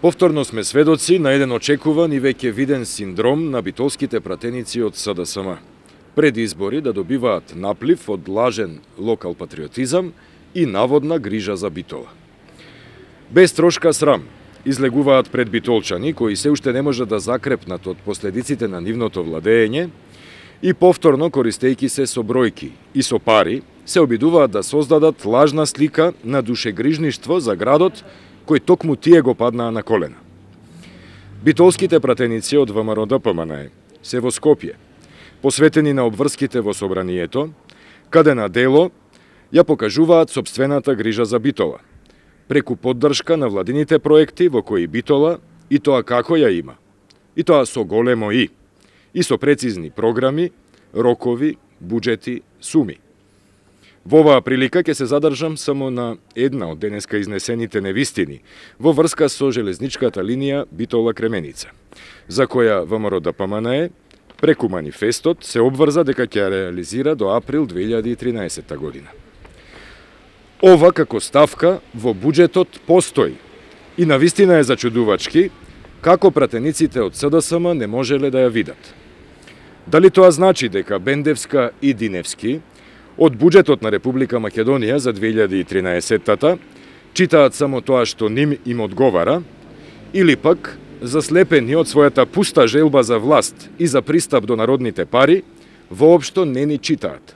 Повторно сме сведоци на еден очекуван и веќе виден синдром на битолските пратеници од СДСМ. Пред избори да добиваат наплив од лажен локал патриотизам и наводна грижа за Битола. Без трошка срам излегуваат пред битолчани кои се уште не можат да закрепнат од последиците на нивното владење и повторно користејќи се со бројки и со пари се обидуваат да создадат лажна слика на душегрижништво за градот кој токму тие го паднаа на колена. Битолските пратеници од ВМРО-ДПМНЕ се во Скопје, посветени на обврските во собранието, каде на дело ја покажуваат сопствената грижа за Битола, преку поддршка на владините проекти во кои Битола и тоа како ја има, и тоа со големо и со прецизни програми, рокови, буџети, суми. Во оваа прилика ќе се задржам само на една од денеска изнесените невистини во врска со железничката линија Битола-Кременица, за која ВМРО-ДПМНЕ преку манифестот се обврза дека ќе ја реализира до април 2013 година. Ова како ставка во буџетот постои и навистина е зачудувачки како пратениците од СДСМ не можеле да ја видат. Дали тоа значи дека Бендевска и Диневски од буџетот на Република Македонија за 2013-та читаат само тоа што ним им одговара, или пак, заслепени од својата пуста желба за власт и за пристап до народните пари, воопшто не ни читаат.